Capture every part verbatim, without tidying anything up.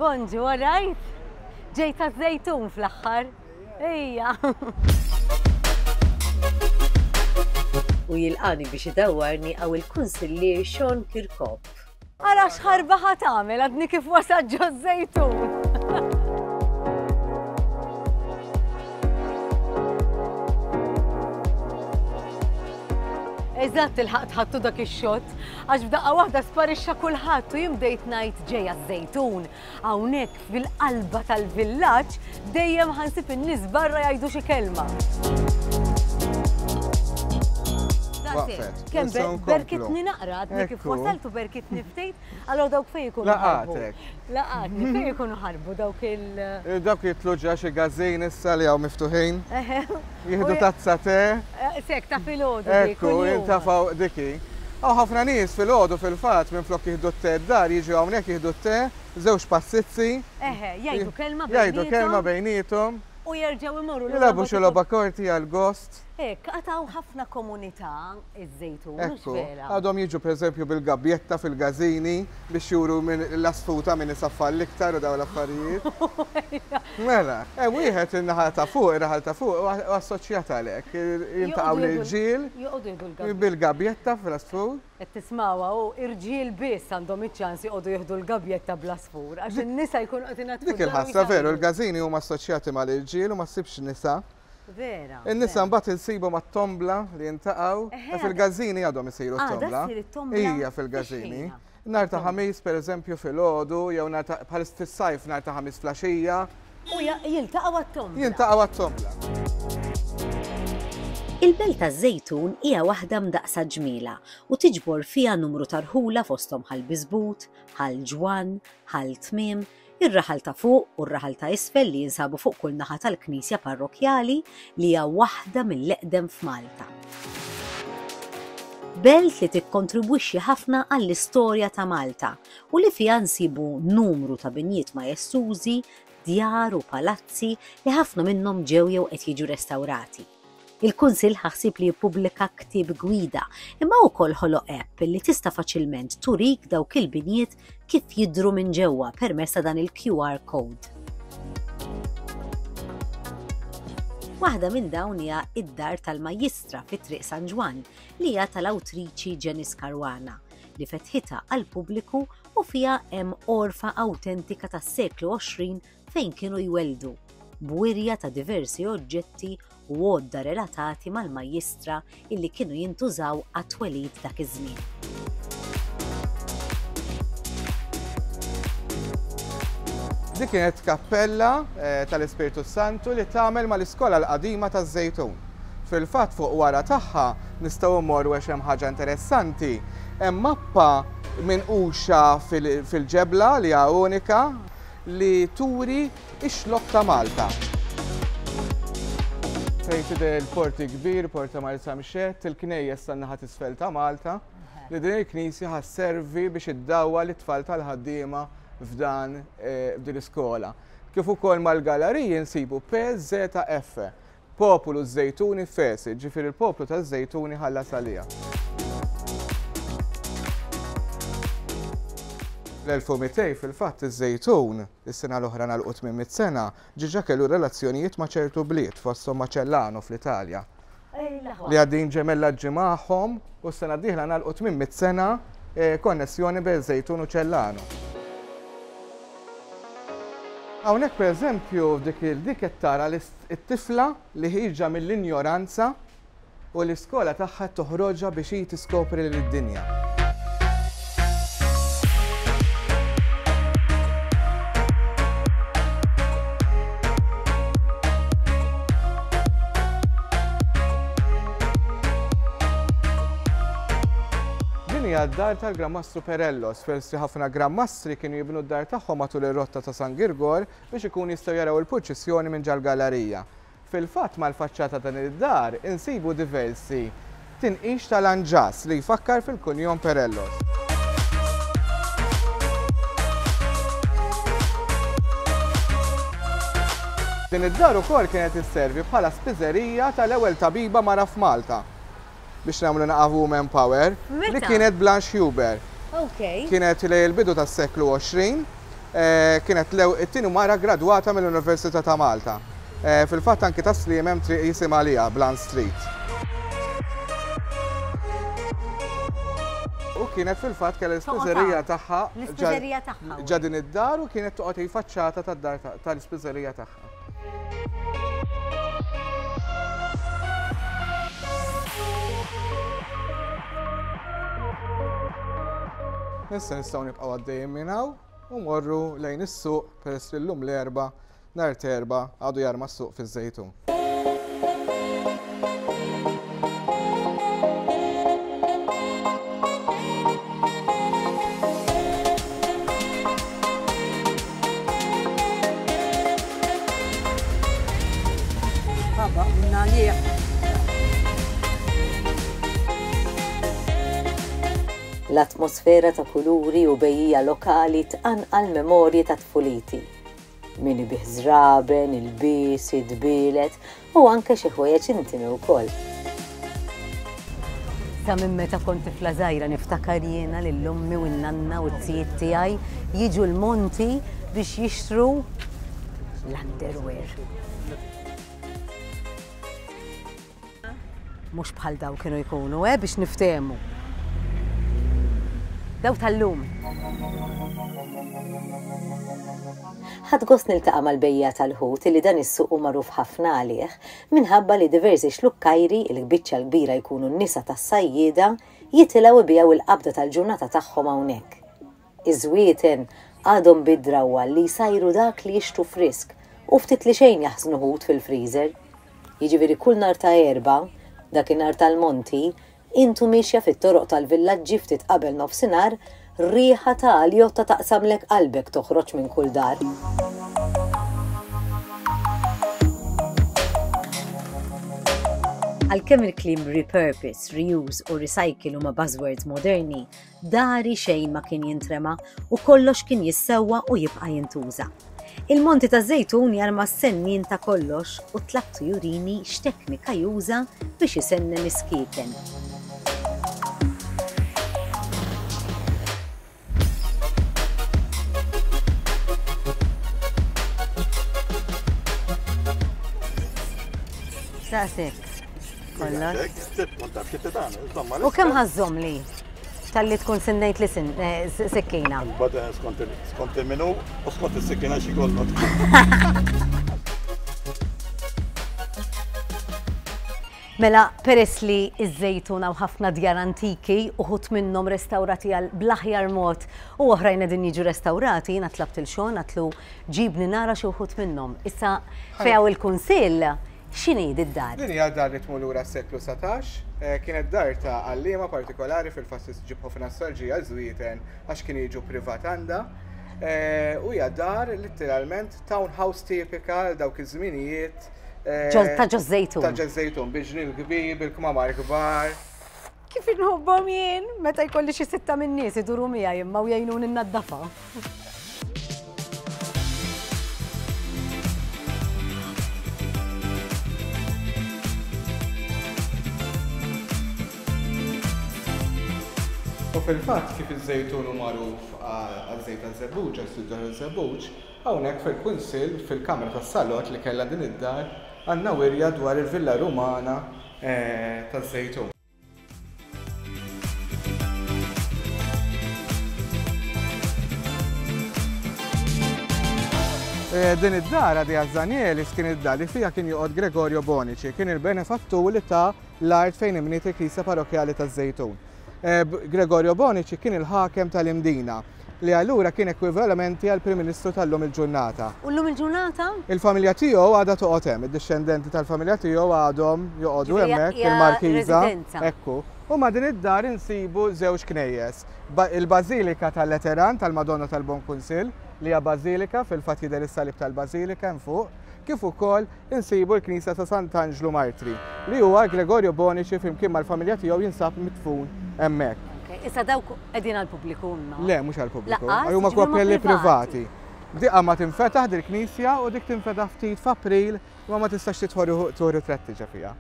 Bonġu, all right? Ġejt taż-Żejtun fl-aħħar. Ejja. U jilqani biex idawwarni hawn il-kunsillier Sean Kirkop. Ara x'ħarba ħa tagħmel għadni kif wasalt ġoż-Żejtun. Eżatt il-ħaqt ħattu dak ix-xott, għax f'daqqa waħda sparixxa kulħadd u jien bdejt ngħid ġejja ż-Żejtun. Hawnhekk fil-qalba tal-villaġġ dejjem ħa nsib in-nies barra jgħidu xi kelma. Waqfet. Kemm Issa nkomplu. berkitni naqra, għadni kif Ekku. wasaltu berkitni ftit, allora dawk fejn ikunu ħarbu. Laqatek. Laqatni, fejn ikunu ħarbu dawk il- Eh, Dawk jitlu ġa xi gażin issa li hawn miftuħin. Eħe. Jieħdu U- tazza te. Eh, Sek ta' filgħodu dik, Ekku, kuljum. jintafaw diki. Hawn ħafna nies filgħodu fil-fatt minflok jieħdu t-te d-dar, jiġu hawnhekk jieħdu t-te, żewġ passizzi. Eħe, jgħidu kelma Jgħidu kelma bejniethom bejniethom. u jerġgħu imorru lura Jilagħbu ma xi tikun- logħba korti għal-gost. Hekk, għataw ħafna komunità iż-Żejtun, mhux Ekku, vera. għadhom jiġu per eżempju bil-gabjetta fil-gazini biex juru minn l-asfuta minn isaffar l-iktar u daw l-affarijiet. Mela, e wieħed in-naħa ta' fuq, ir-raħal ta' fuq, u assoċjat għalhekk. Jiltaqgħu Joqogħdu jieħdu- l-irġiel Joqogħdu jieħdu l-gabjetta. bil-gabjetta fl-asfur. Qed tismawha u irġiel biss għandhom iċ-ċans joqogħdu jieħdu l-gabjetta bl-asfur għax in-nisa jkunu qed inaddfu Dik il-ħasra veru, il-gazini huma assoċjati mal-irġiel u ma ssibx nisa. Vera. In-nisa mbagħad insibu mat-tombla li jintaqgħu, Eħe, fil-gazini għadhom isiru Għadha t-tombla. ssir it-tombla? Ija fil-gazini. Fix-ħina? Nhar ta' Ħamis pereżempju filgħodu jew nhar ta' bħal fis-sajf nhar ta' Ħamis flaxija, U ja- jiltaqgħu għat-tombla. jintaqgħu għat-tombla. Il-belt taż-Żejtun hija waħda mdaqsa ġmiela u tiġbor fiha numru ta' rħula fosthom Ħal Biżbut, Ħal Ġwann, Ħal Tmiem, ir-raħal ta' fuq u r-raħal ta' isfel li jinsabu fuq kull naħa tal-Knisja Parrokkjali li hija waħda mill-eqdem f'Malta. Belt li tikkontribwixxi ħafna għall-istorja ta' Malta u li fiha nsibu numru ta' binjiet majestużi, djar u palazzi li ħafna minnhom ġew jew qed jiġu restawrati. Il-Kunsill ħa ħsieb li jippubblika ktieb gwida, imma wkoll ħoloq app li tista' faċilment turik dawk il-binjiet kif jidhru minn ġewwa permezz ta' dan il-Q R code. Waħda minn dawn hija id-dar tal-Majjistra fi Triq San Ġwann li hija tal-awtriċi Janice Caruana li fetħitha għal pubbliku u fiha hemm għorfa awtentika tas-seklu għoxrin fejn kienu jweldu b'wirja ta' diversi oġġetti u għodda relatati mal-majjistra illi kienu jintużaw għat-twelid dak iż-żmien. Dik kienet kappella eh, tal-Ispirtu Santu li tagħmel mal-iskola l-qadima taż-Żejtun. Fil-fatt fuq wara tagħha nistgħu mmorru għax hemm ħaġa interessanti. Hemm mappa minquxa fil-ġebla li hija unika li turi ix-xlokk ta' Malta. Fejn tidher il-porti kbir, Porta Marsamxett, il-knejjes tan-naħa t'isfel ta' Malta, li din il-knisja ħa sservi biex iddawwal it-tfal tal-ħaddiema f'dan eh, f'din l-iskola. Kif ukoll mal-galeriji nsibu P Z F, Popolu Żejtuni Fesi, ġifieri il-poplu taż-Żejtuni ħallas għaliha. L-elf u mitejn fil-fatt iż-Żejtun, is-sena l-oħra nagħlqu tmien mitt sena, diġà kellu relazzjonijiet ma' ċertu bliet, fosthom ma' Cellano fl-Italja. Li għaddin ġemellaġġi magħhom u s-sena d-dieħla nagħlqu tmien mitt sena eh, konnessjoni bejn Żejtun u Cellano. Hawnhekk pereżempju dik il-dik qed tara t-tifla li ħierġa mill-injoranza u l-iskola tagħha toħroġha biex hi tiskopri lid-dinja. Din hija d-dar tal-Gran Mastru Perellos. Forsi ħafna Gran Mastri kienu jibnu d-dar tagħhom matul ir-rotta ta' San Girgor biex ikun jistgħu jaraw il-purċissjoni minn ġal-gallerija. Fil-fatt mal-faċċata ta' din id-dar insibu diversi tinqix tal-anġas li jfakkar fil-kunjom Perellos. Din id-dar ukoll kienet isservi bħala spiżerija tal-ewwel tabiba mara f'Malta biex nagħmlu naqra woman power li Meta? kienet Blanche Huber. Ok. Kienet lejn il-bidu tas-seklu għoxrin, Kienet it-tieni mara gradwata mill-Università ta' Malta. Fil-fatt anki Tas-Sliema hemm triq jisimha għaliha, Blunt Street. U kienet fil-fatt kellha l-ispiżerija tagħha. L-ispiżerija tagħha. Ġa din id-dar u kienet toqgħod il-faċċata tad-dar tal-ispiżerija tagħha. Issa nistgħu nibqgħu għaddejjin minn hawn u morru lejn is-suq peress li llum l-Erbgħa nhar t'Erbgħa għadu jarma s-suq fiż-Żejtun. L-atmosfera ta' kuluri u bejjija lokali tqanqal memorji ta' tfuliti. Min ibih żraben, ilbies, idbielet u anke xi ħwejjeġ intimi wkoll. Sa minn meta kont tifla żgħira niftakar jiena lil ommi u n-nanna u t-tijiet tiegħi jiġu l-monti biex jixtru l-underwear. Mhux bħal daw kienu jkunu, eh, biex niftehmu. Daw tal-lum. Ħadt gost niltaqa' mal-bejja tal-ħut li dan is-suq hu magħruf ħafna għalih minħabba li diversi xlukkajri il-biċċa l-kbira jkunu n-nisa tas-sajjieda jitilgħu ibiegħu il-qabda tal-ġurnata tagħhom hawnhekk. Iż-żwieten għadhom bid-drawwa li jsajru dak li jixtru frisk u ftit li xejn jaħżnu ħut fil-freezer. Jiġifieri kull nhar ta' Erbgħa, dakinhar tal-monti, intu miexja fit-toroq tal-villaġġi ftit qabel nofsinhar, riħa ta' aljotta taqsamlek qalbek toħroġ minn kull dar. Għalkemm il-kliem repurpose, reuse u recycle huma buzzwords moderni, dari xejn ma kien jintrema u kollox kien jissewwa u jibqa' jintuża. Il-Monti ta' Żejtun jarma s-sennin ta' kollox u tlabtu jurini x'teknika juża biex isennen is-skieken. Saqsek. Kollox. U kemm ħażhom li? Talli tkun sinnejt li sikkina. Skont il-minu u skont is-sikkina xi kollok. Mela, peress li iż-Żejtun hawn ħafna djar antiki, uħud minnhom restawrati għal bl-aħjar mod u oħrajn qegħdin jiġu restawrati, jiena tlabt il Sean għatlu ġibni nara xi wħud minnhom. Issa fejn hawn il-kunsill, x'inhi d-dar? Din hija dar li tmur lura s-seklu satax, kienet dar ta' għalliema partikolari fil-fatt ġib ħafna nostalġija żwieten għax kienu jiġu privat għandha. U hija dar letteralment townhouse tipika għal dawk iż-żminijiet. Ta' ġo Żejtun. Ta' ġo Żejtun, bil-ġnien kbir, bil-kmamar kbar. Kif inħobbhom jien meta jkolli xi sitta min-nies iduru miegħi imma u jgħinuni nnaddafa. U fil-fatt kif iż-Żejtun hu magħruf għaż-żejt taż-żebbuġ, għas-siġar taż-żebbuġ, hawnhekk fil-kunsill, fil-kamra tas-salott li kellha din id-dar, għandna wirja dwar il-Villa Rumana taż-Żejtun. Din id-dar għadija Zanielis kien id-dar li fija kien joqgħod Gregorio Bonici, kien il-benefattur li ta' l-art fejn imniet il-Knisja Parrokkjali taż-Żejtun. Gregorio Bonici kien il-ħakem tal-Imdina, li allura kien ekwivalementi għal Prim Ministru tal-lum il-ġurnata. U llum il-ġurnata? Il-familja tiegħu għadha toqgħod hemm, id-dixxendenti tal-familja tiegħu għadhom joqogħdu Ġifieri hemmhekk hija il-Markiża. residenza. Ekku. U ma' din id-dar insibu żewġ knejjes. Il-Bażilika tal-Lateran tal-Madonna tal-Bon Kunsill, li hija bażilika fil-fatt jidher is-salib tal-bażilika hemm fuq, kif ukoll insibu l-Knisja ta' Sant'Anġlu Martri, li huwa Gregorio Bonici flimkien mal-familja tiegħu jinsab midfun hemmhekk. Okay, issa dawk qegħdin għall-pubbliku imma? Le, mhux għall-pubbliku. Laqqas, Huma jiġifieri huma kappelli privati. privati. Diqa ma tinfetaħ dil-knisja u dik tinfetaħ ftit f'April ma ma tistax tidħol tieħu ritratti ġa fiha.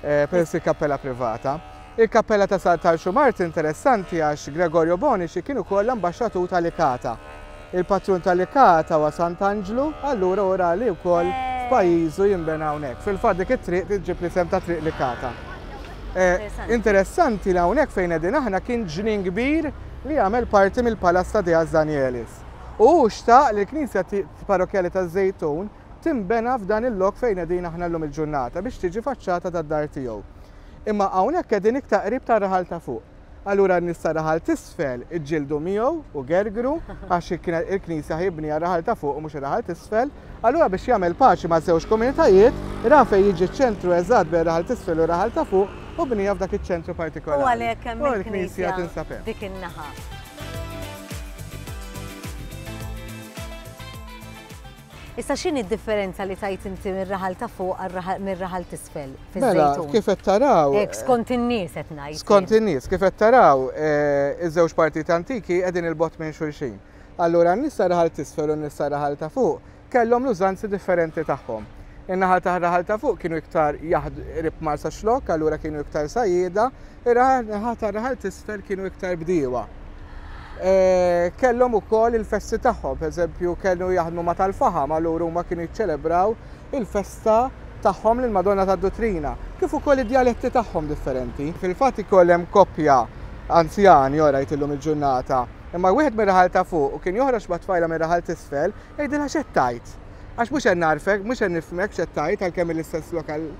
Eh, peress il-kappella privata. Il-kappella ta' Sant'Anġlu Martri interessanti għax Gregorio Bonici kien ukoll l-ambaxxatur tal-Ikata. Il-patrun tal-Licata huwa Sant'Anġlu, allura ora li wkoll f'pajjiżu jinbena hawnhekk. Fil-fatt dik it-triq tiġġib l-isem ta' Triq Licata. Interessanti li hawnhekk fejn qegħdin aħna kien ġnien kbir li għamel parti mill-Palazz ta' Diaz Danielis. U hu xtaq li l-Knisja Parrokkjali taż-Żejtun timbena f'dan il-lok fejn qegħdin aħna llum il-ġurnata biex tiġi faċċata tad-dar tiegħu. Imma hawnhekk qegħdin iktar qrib tar-raħal ta' fuq. Allura n-nies tar-raħal t'isfel iġġieldu miegħu u gergru għax il-knisja ħibni għar-raħal ta' fuq u mhux ir-raħal t'isfel. Allura biex jagħmel paċi ma' żewġ komunitajiet, ra fejn jiġi ċ-ċentru eżatt bejn raħal t'isfel u raħal ta' fuq u bnija f'dak iċ-ċentru partikolari. U għalhekk hemm il-knisja tinsab hemm. Dik in-naħa. Issa x'inhi d-differenza li tajt inti mir-raħal ta' fuq mir-raħal t'isfel fiż-Żejtun? Mela, kif qed taraw. Hekk skont in-nies qed ngħid. Skont in-nies, kif qed taraw, iż-żewġ partijiet antiki qegħdin il-bogħod minn xulxin. Allura n-nies tar-raħal t'isfel u n-nies tar-raħal ta' fuq kellhom l-użanzi differenti tagħhom. In-naħa tar-raħal ta' fuq kienu iktar qrib Marsaxlokk, allura kienu iktar sajjieda, ir-naħa tar-raħal t'isfel kienu iktar bdiewa. Kellhom ukoll il-festi tagħhom, pereżempju kienu jaħdmu ma' tal-faħam, allura huma kienu jiċċelebraw il-festa tagħhom lil Madonna tad-Duttrina, kif ukoll id-djaletti tagħhom differenti. Fil-fatt ikoll hemm koppja anzjani ora jtillhom il-ġurnata, imma wieħed mir-raħal ta' fuq u kien joħroġ ma' tfajla mir-raħal t'isfel, jgħidilha x'qed tgħid. Għax mhux qed narfek, mhux qed nifhmek x'qed tgħid għalkemm l-istess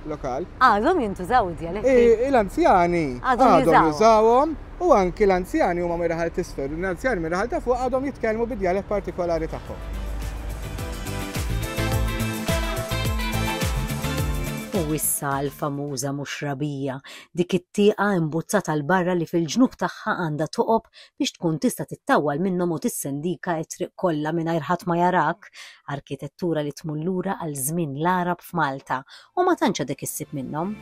lokal. Għadhom jintużaw id-djaletti. L-anzjani għadhom jużawhom u anki l-anzjani huma mir-raħal t'isfel, l-anzjani mir-raħal ta' fuq għadhom jitkellmu bid-djalett partikolari tagħhom. U issa l-famuża muxrabija, dik it-tieqa imbuzzata l barra li fil-ġnub tagħha għandha toqob biex tkun tista' tittawwal minnhom u tissendika t-triq kollha mingħajr ħadd ma jarak, arkitettura li tmur lura għal żmien l-Għarab f'Malta u ma tantx għadek issib minnhom.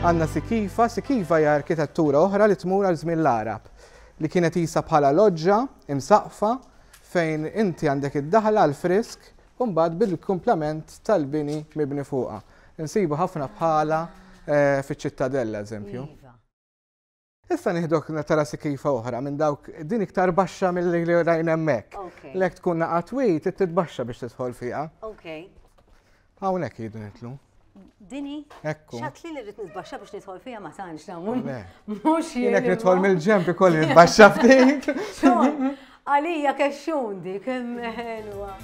Għandna Sikifa, Sikifa hija arkitettura oħra li tmur għal żmien l-Għarab, li kienet isa bħala loġġa imsaqfa fejn inti għandek id-daħla għal frisk u mbagħad bil-kumplament tal-bini mibni fuqha. Insibu ħafna bħala fiċ-Ċittadella, eżempju. Issa nieħdok tara Sikifa oħra minn dawk din iktar baxxa milli rajna hemmhekk. Lek tkun naqa' twil trid titbaxxa biex tidħol fiha. Hawnhekk jridu nitlu. Dini? Ekku. Xatli li rrid nitbaxxa biex nidħol fiha ma tantx nagħmel. Mhux jien. Jien nidħol mill-ġenb ikolli nitbaxxa ftit. Għalija kexxun dik kemm ħelwa.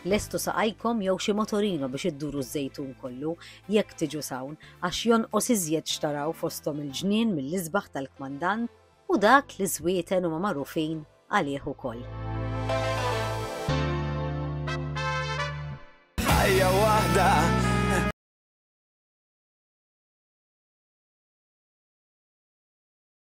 Lestu saqajkom jew xi motorino biex idduru ż-Żejtun kollu jekk tiġu sawn għax jonqos iżjed xtaraw fosthom il-ġnien mill-isbaħ tal-kmandant u dak li żwieten huma magħrufin għalih ukoll. Ħajja waħda.